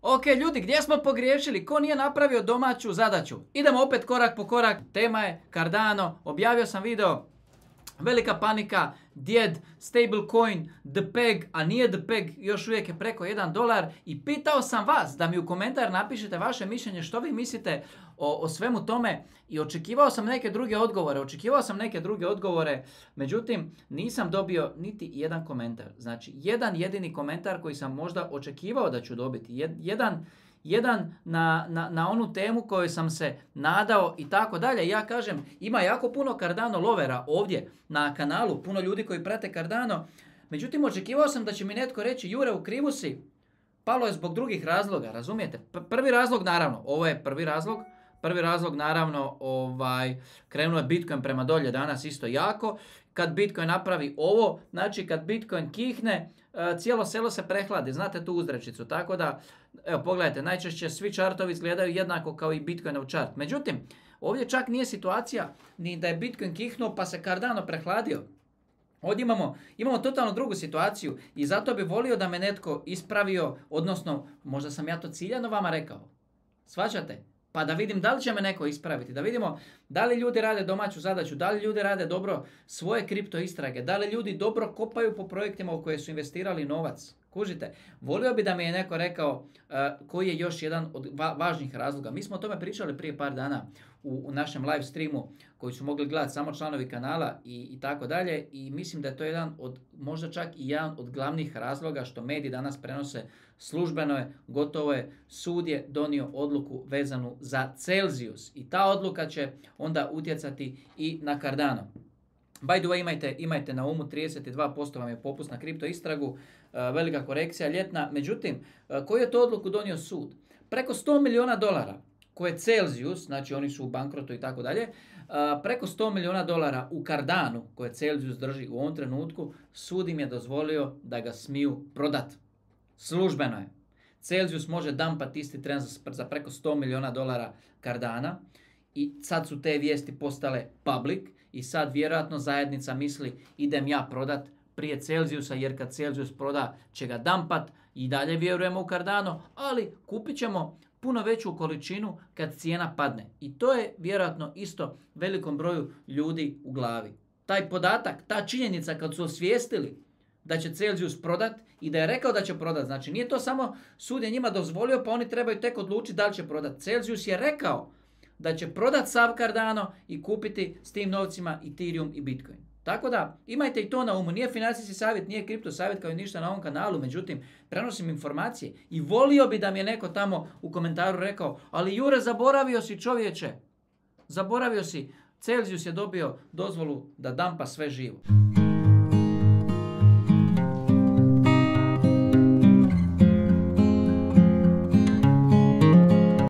Ok, ljudi, gdje smo pogriješili? Ko nije napravio domaću zadaću? Idemo opet korak po korak. Tema je Cardano. Objavio sam video. Velika panika, djed, stablecoin, the peg, a nije the peg, još uvijek je preko $1 i pitao sam vas da mi u komentar napišete vaše mišljenje što vi mislite o svemu tome i očekivao sam neke druge odgovore, međutim nisam dobio niti jedan komentar. Znači, jedan jedini komentar koji sam možda očekivao da ću dobiti, jedan na onu temu koju sam se nadao i tako dalje. Ja kažem, ima jako puno Cardano lovera ovdje na kanalu, puno ljudi koji prate Cardano. Međutim, očekivao sam da će mi netko reći, Jure, u krivu si, palo je zbog drugih razloga, razumijete? Prvi razlog, naravno, ovo je prvi razlog, naravno, krenuo je Bitcoin prema dolje danas isto jako. Kad Bitcoin napravi ovo, znači kad Bitcoin kihne, cijelo selo se prehladi, znate tu uzrečicu, tako da, evo pogledajte, najčešće svi čartovi izgledaju jednako kao i Bitcoinov čart. Međutim, ovdje čak nije situacija ni da je Bitcoin kihnuo pa se Cardano prehladio. Ovdje imamo totalno drugu situaciju i zato bi volio da me netko ispravio, odnosno možda sam ja to ciljano vama rekao. Shvaćate? Pa da vidim da li će me neko ispraviti, da vidimo da li ljudi rade domaću zadaću, da li ljudi rade dobro svoje kripto istrage, da li ljudi dobro kopaju po projektima u koje su investirali novac. Kužite, volio bi da mi je neko rekao koji je još jedan od važnih razloga. Mi smo o tome pričali prije par dana u našem live streamu koji su mogli gledati samo članovi kanala i tako dalje i mislim da je to jedan od, možda čak i jedan od glavnih razloga što mediji danas prenose službeno je, gotovo je, sud je donio odluku vezanu za Celsius i ta odluka će onda utjecati i na Cardano. By the way, imajte na umu, 32% vam je popust na kripto istragu, velika korekcija ljetna. Međutim, koju je to odluku donio sud? Preko $100 milijuna koje Celsius, znači oni su u bankrotu i tako dalje, preko $100 milijuna u Cardanu koje Celsius drži u ovom trenutku, sud im je dozvolio da ga smiju prodat. Službeno je. Celsius može dampati isti tren za preko $100 milijuna Cardana i sad su te vijesti postale public i sad vjerojatno zajednica misli idem ja prodat prije Celsiusa jer kad Celsius proda će ga dampat i dalje vjerujemo u Cardano, ali kupit ćemo puno veću količinu kad cijena padne. I to je vjerojatno isto velikom broju ljudi u glavi. Taj podatak, ta činjenica kad su osvijestili da će Celsius prodat i da je rekao da će prodat, znači nije to samo sud je njima dozvolio pa oni trebaju tek odlučiti da li će prodat. Celsius je rekao da će prodat sav Cardano i kupiti s tim novcima Ethereum i Bitcoin. Tako da imajte i to na umu. Nije financijski savjet, nije kripto savjet kao i ništa na ovom kanalu, međutim prenosim informacije i volio bi da mi je neko tamo u komentaru rekao, ali Jure, zaboravio si čovječe, zaboravio si, Celsius je dobio dozvolu da dampa sve živo.